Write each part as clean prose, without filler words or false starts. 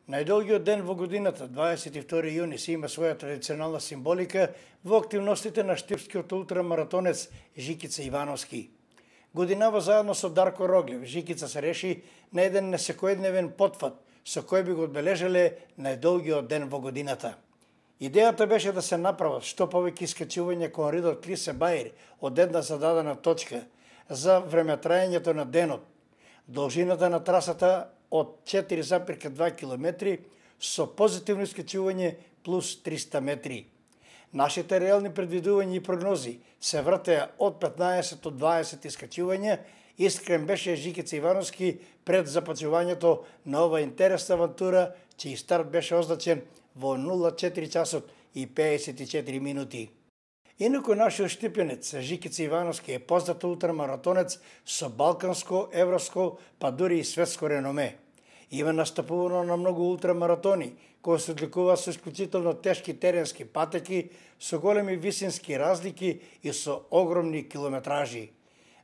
Најдолгиот ден во годината, 22 јуни, се има своја традиционална символика во активностите на штипскиот ултрамаратонец Жикица Ивановски. Годинава заедно со Дарко Роглев, Жикица се реши на еден несекојдневен потфат, со кој би го одбележале најдолгиот ден во годината. Идејата беше да се направат што повеќе искачување кон ридот Клисе Баир од една зададена точка за времетраењето на денот. Должината на трасата од 4,2 км со позитивно искачување плюс 300 метри. Нашите реални предвидувања и прогнози се вртеа од 15 до 20 искачувања. Искрен беше Жикица Ивановски пред започнувањето на ова интересна авантура, чиј старт беше означен во 04 часот и 54 минути. Инаку нашиот штипенец Жикица Ивановски е познат ултрамаратонец со балканско, европско, па дури и светско реноме. Има настапувано на многу ултрамаратони, кои се одликуваат со исклучително тешки теренски патеки, со големи висински разлики и со огромни километражи.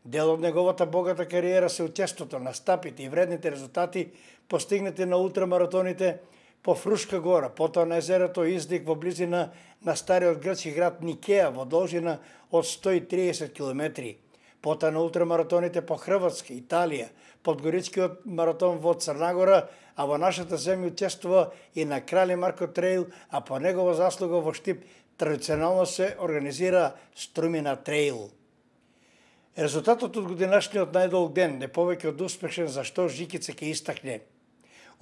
Дел од неговата богата кариера се учеството на стапите и вредните резултати постигнати на ултрамаратоните по Фрушка гора, потоа на езерото Издик во близина на стариот грчки град Никеа во должина од 130 км, потоа на ултрамаратоните по Хрватска, Италија, подгоричкиот маратон во Црна Гора, а во нашата земја учествува и на Крали Марко трейл, а по негова заслуга во Штип традиционално се организира Струмина трейл. Резултатот од годинашниот најдолг ден не повеќе од успешен, зашто Жикица ќе истакне.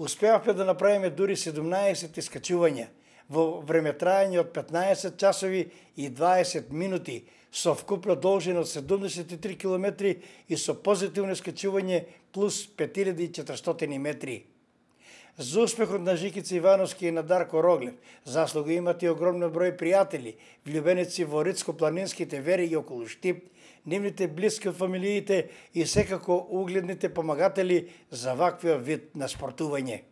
Успеавме да направиме дури 17 искачувања во времетраење од 15 часови и 20 минути со вкупна должина од 73 км и со позитивно искачување плюс 5400 метри. За успехот на Жикица Ивановски и на Дарко Роглев заслуга имат и огромен број пријатели, влюбеници во ридско-планинските вериги околу Штип, нивните блиски од фамилиите и секако угледните помагатели за ваквиот вид на спортување.